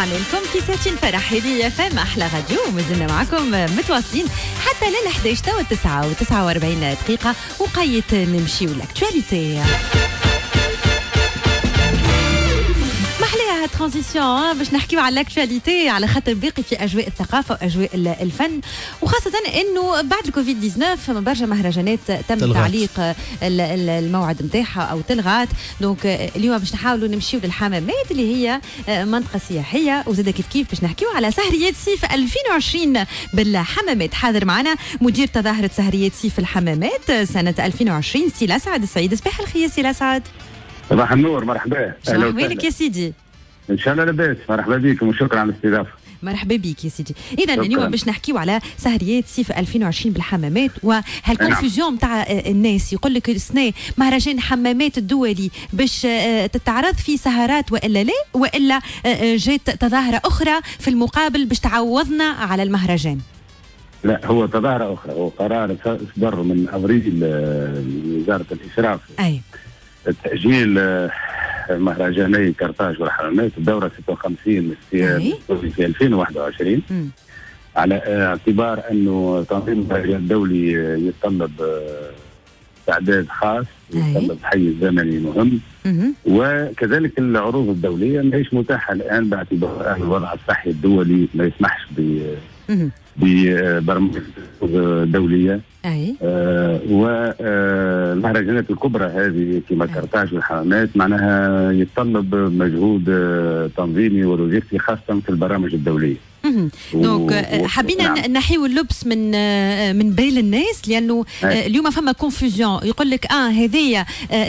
رجعنا لكم في ساعتين فرح هذه IFM احلى راديو، ومازلنا معكم متواصلين حتى لل 11 تو 9 و49 دقيقة، وقيت نمشيو l'actualité. محليها transition باش نحكيو على l'actualité، على خاطر باقي في اجواء الثقافة واجواء الفن، وخاصة انه بعد الكوفيد 19 برشا مهرجانات تم تعليق الموعد نتاعها او تلغات. donc اليوم باش نحاولوا نمشيو للحمامات اللي هي منطقة سياحية، وزاد كيف كيف باش نحكيو على سهريات صيف 2020 بالحمامات. حاضر معنا مدير تظاهرة سهريات صيف الحمامات سنة 2020 سي الاسعد السعيد. صباح الخير سي الاسعد. صباح النور، مرحبا. اهلا وسهلا يا سيدي. ان شاء الله لاباس، مرحبا بكم وشكرا على الاستضافة. مرحبا بك يا سيدي. اذا اليوم باش نحكيو على سهريات صيف 2020 بالحمامات، وهال confusion نتاع الناس يقول لك السنة مهرجان حمامات الدولي باش تتعرض في سهرات والا لا، والا جات تظاهرة اخرى في المقابل باش تعوضنا على المهرجان. لا، هو تظاهرة اخرى، هو قرار صدر من ابريل من وزارة الاشراف. اي تأجيل مهرجاني كرتاج والحمامات الدورة 56 في 2021 على اعتبار أنه تنظيم المهرجان الدولي يتطلب استعداد خاص، يتطلب حيز زمني مهم، وكذلك العروض الدولية ماهيش متاحة الآن باعتبار الوضع الصحي الدولي ما يسمحش ببرامج دولية. والمهرجانات الكبرى هذه كما كرتاج والحمامات معناها يتطلب مجهود تنظيمي ولوجستي خاصة في البرامج الدولية. donc حبينا نحيو اللبس من بال الناس، لانه اليوم فما confusion، يقول لك هذه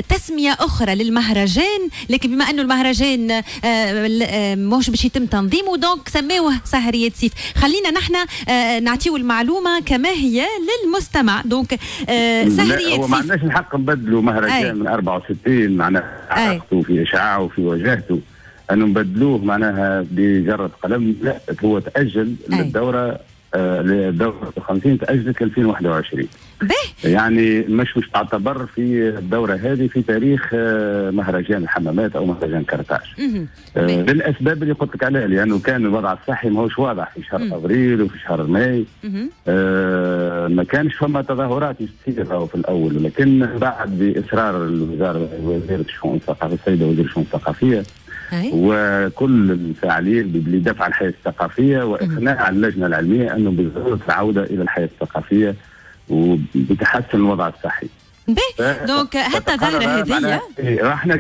تسميه اخرى للمهرجان، لكن بما انه المهرجان ماهوش باش يتم تنظيمه donc سماوه سهريات صيف. خلينا نحن نعطيو المعلومة كما هي للمستمع. donc سهريات صيف، ما عندناش الحق نبدلوا مهرجان من 64 معناها علاقته في اشعاعه في وجهته أنه نبدلوه معناها بجرة قلم. لا، هو تأجل للدورة للدورة 50 تأجلت 2021. يعني مش تعتبر في الدورة هذه في تاريخ مهرجان الحمامات أو مهرجان كرتاج. للأسباب اللي قلت لك عليها، لأنه كان الوضع الصحي ماهوش واضح في شهر أفريل وفي شهر ماي. ما كانش فما تظاهرات تصير في الأول، لكن بعد بإصرار الوزارة، وزيرة الشؤون الثقافية السيدة وزيرة الشؤون الثقافية وكل الفاعلين لدفع الحياة الثقافية وإقناع اللجنة العلمية أنه بالضرورة العودة إلى الحياة الثقافية وبتحسن الوضع الصحي. donc حتى الظاهرة هذه احنا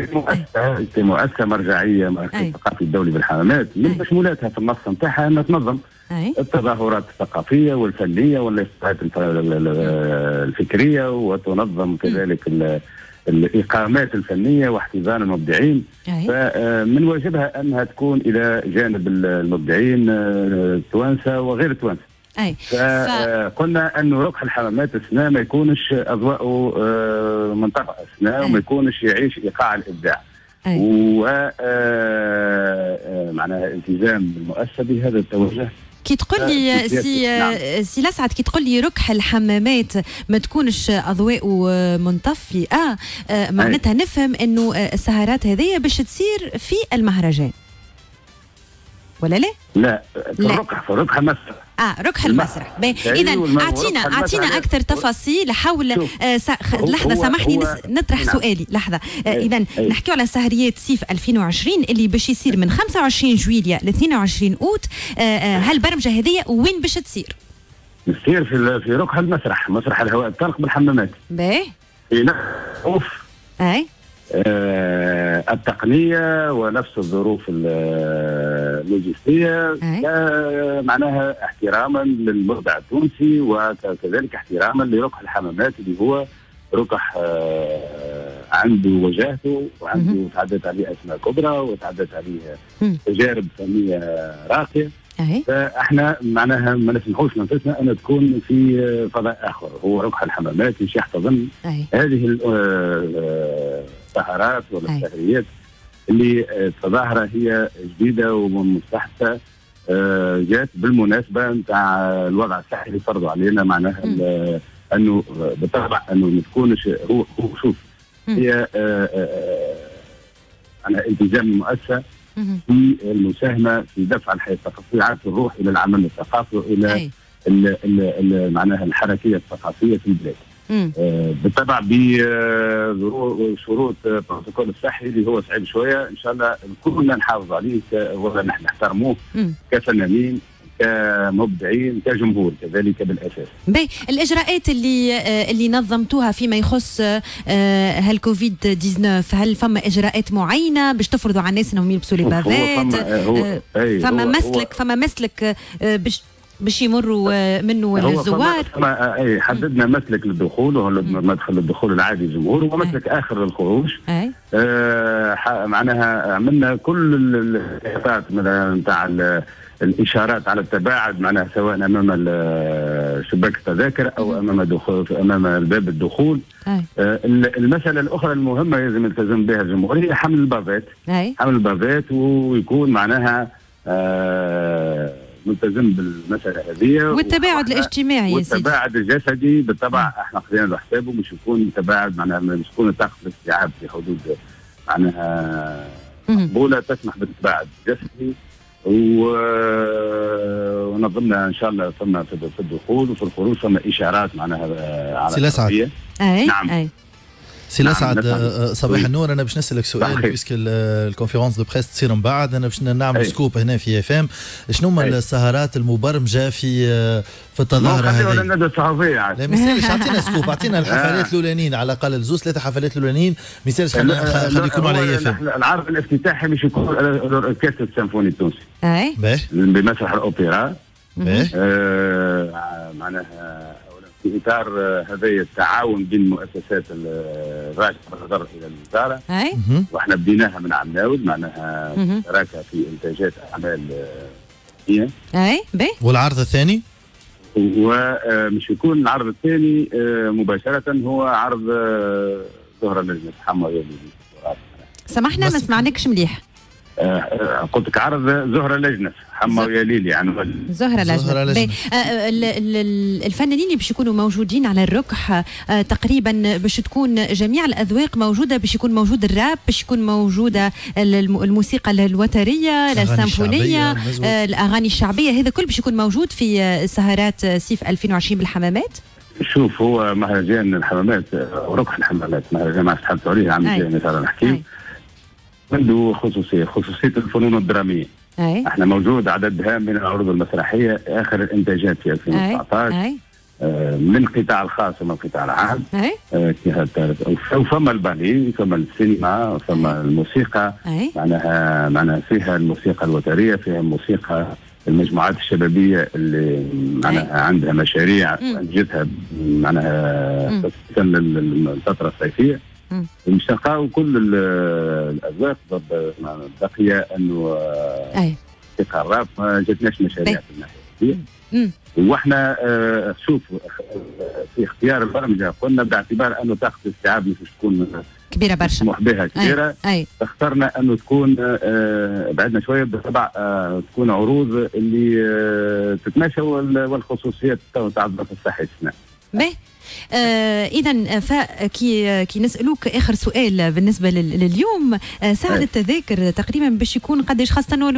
كمؤسسة مرجعية مركز الثقافي الدولي بالحمامات من مشمولاتها في النص نتاعها أن تنظم التظاهرات الثقافية والفنية والإصلاحات الفكرية، وتنظم كذلك الإقامات الفنية واحتضان المبدعين. فمن واجبها أنها تكون إلى جانب المبدعين التوانسة وغير التوانسة. فقلنا أنه ركح الحمامات السنة ما يكونش أضواءه منطقة السنة، وما يكونش يعيش إيقاع الإبداع. و معناها التزام المؤسسة بهذا التوجه. كي تقول لي سي لسعد، كي تقول لي ركح الحمامات ما تكونش اضواء منطفئه، معناتها نفهم انه السهرات هذه باش تصير في المهرجان ولا لا؟ لا، في ركح المسرح. ركح المسرح. اذا اعطينا اكثر تفاصيل حول لحظة، سامحني نطرح سؤالي لحظة. اذا نحكيو على سهريات صيف 2020 اللي باش يصير من 25 جويليا ل 22 اوت. هالبرمجه هذه وين باش تصير؟ تصير في ركح المسرح، مسرح الهواء الطلق بالحمامات. باهي. في نفس الظروف. اي التقنية ونفس الظروف اللوجستية، معناها احتراما للمبدع التونسي وكذلك احتراما لركح الحمامات اللي هو ركح عنده وجاهته وعنده تعدت عليه أسماء كبرى وتعدت عليه تجارب فنية راقية. فاحنا معناها ما نسمحوش لانفسنا ان تكون في فضاء اخر، هو ركح الحمامات مش يحتضن هذه السهرات ولا السهريات اللي التظاهرة هي جديدة ومستحدثه، جات بالمناسبة نتاع الوضع الصحي اللي فرضوا علينا، معناها انه بالطبع انه ما تكونش هو شوف هي معناها التزام المؤسسة في المساهمة في دفع الحياة الثقافية، عادة الروح الى العمل الثقافي والى معناها الحركية الثقافية في البلاد. بالطبع بشروط البروتوكول الصحي اللي هو صعيب شوية، ان شاء الله كلنا نحافظ عليه ولا نحترموه كفنانين كمبدعين كجمهور كذلك بالاساس. باهي، الاجراءات اللي نظمتوها فيما يخص هالكوفيد 19، هل فما اجراءات معينة باش تفرضوا على الناس انهم يلبسوا les bavettes؟ فما مسلك باش يمروا منه الزوار؟ اي حددنا مسلك للدخول وهو مدخل الدخول العادي للجمهور ومسلك اخر للخروج. معناها عملنا كل الاحتياطات نتاع الاشارات على التباعد، معناها سواء امام شباك التذاكر او امام باب الدخول. المسالة الاخرى المهمة لازم يلتزم بها الجمهور هي حمل ال bavette. حمل ال bavette ويكون معناها ملتزم بالمسالة هذه والتباعد الاجتماعي والتباعد الجسدي بالطبع. احنا خذينا له حسابه مش يكون تباعد، معناها مش يكون طاقة الاستيعاب في حدود معناها مقبولة تسمح بالتباعد الجسدي. ونظمنا ان شاء الله ثم في الدخول وفي الخروج ثم اشارات معناها على سي. نعم. أي. سي الاسعد، صباح النور. انا باش نسالك سؤال puisque ال conférence de presse تصير من بعد، انا باش نعمل scoop هنا في IFM. شنو هما السهرات المبرمجه في التظاهرة هذه؟ الندوة الصحفية لا ما يسالش، اعطينا scoop، اعطينا الحفلات الاولانيين على الاقل، الزوز ثلاثة حفلات الاولانيين ما يسالش، خلي يكونوا على IFM. العرض الافتتاحي باش يكون الاوركسترا السيمفوني التونسي بمسرح الاوبرا. معناها في اطار هذا التعاون بين المؤسسات الراجعة بالنظر الى الوزارة، واحنا بديناها من عام ناول، معناها شراكة في انتاجات اعمال. اي باهي. والعرض الثاني؟ ومش يكون العرض الثاني مباشرة هو عرض زهره لجنة حمويه. سامحنا ما سمعناكش مليح. قلت لك عرض زهرة لجنة حما ويا ليلي، يعني زهرة لجنة. الفنانين اللي باش يكونوا موجودين على الركح تقريبا باش تكون جميع الأذواق موجودة، باش يكون موجود الراب، باش يكون موجودة الموسيقى الوترية، السيمفونية، الأغاني الشعبية، هذا كل باش يكون موجود في سهرات صيف 2020 بالحمامات. شوف، هو مهرجان الحمامات وركح الحمامات، مهرجان ما تحدثوا عليه عام الجاي مثلا نحكي، عنده خصوصية الفنون الدرامية. احنا موجود عدد هام من العروض المسرحية، اخر الانتاجات في 2019 من القطاع الخاص ومن القطاع العام. وفما الباليه، فما السينما، فما الموسيقى. معناها فيها الموسيقى الوتريه، فيها الموسيقى المجموعات الشبابية اللي معناها عندها مشاريع انجزتها معناها للفترة الصيفية. مش نلقاو كل الاذواق. بقي انه موسيقى الراب ما جاتناش مشاريع في الناحية هذه. واحنا شوف في اختيار البرمجة قلنا باعتبار انه طاقة الاستيعاب مش تكون كبيرة برشا، مسموح بها كبيرة. اخترنا انه تكون بعدنا شوية بالطبع، تكون عروض اللي تتماشى والخصوصيات تاع الظرف الصحي السنة. باهي. اذا فكي كي نسالوك اخر سؤال بالنسبة لليوم، سعر التذاكر تقريبا باش يكون قداش، خاصة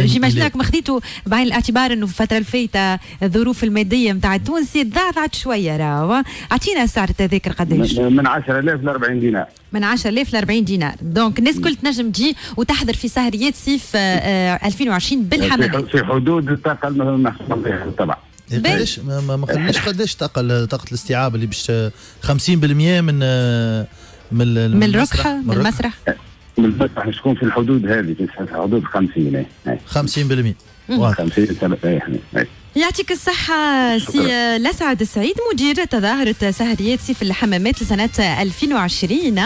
j'imagine ما خذيتو بعين الاعتبار انه في الفترة الفايته الظروف المادية نتاع التونسي تضعضعت شوية، راهو اعطينا سعر التذاكر قداش؟ من 10000 ل 40 دينار. من 10000 ل 40 دينار، donc الناس الكل تنجم تجي وتحضر في سهريات صيف 2020 بالحمامات في حدود الطاقة المسموح بها طبعا. قداش ما قلناش قداش طاقة الاستيعاب اللي باش 50% من من الركحة من المسرح؟ من المسرح تكون في الحدود هذه، في حدود 50. 50%. 50. يعطيك الصحة سي لسعد السعيد، مدير تظاهرة سهريات صيف الحمامات لسنة 2020.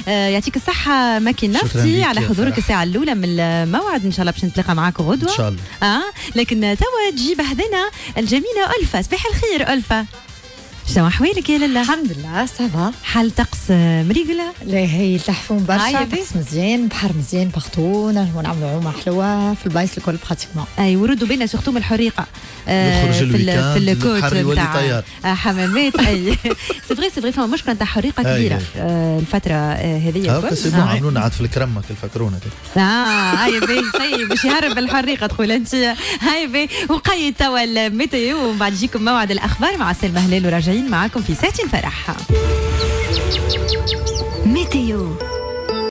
يعطيك الصحة مكي نفتي على حضورك الساعة الأولى من الموعد، إن شاء الله باش نتلاقى معاك غدوة إن شاء الله. لكن توا تجي بحذنا الجميلة ألفة. صباح الخير ألفة. شنو احوالك يا لاله؟ الحمد لله ça va. حال طقس مريقله؟ لا هي تحفون برشا، طقس مزيان، بحر مزيان partout، نجمو نعملوا عومه حلوة في البلايص الكل pratiquement. اي وردوا بينا surtout من الحريقه في ال côte نتاع حمامات. اي c'est vrai c'est vrai، فما مشكلة نتاع حريقة كبيرة الفترة هذه الكل. c'est bon عملونا عاد في الكرمة الفكرونه. هاي باهي، سي باش يهرب الحريقه تقول انت. هاي باهي، وقيد توا ال météo ومن بعد يجيكم موعد الاخبار مع سلمى هلال، وراجعين معاكم في ساعتين فرح. météo.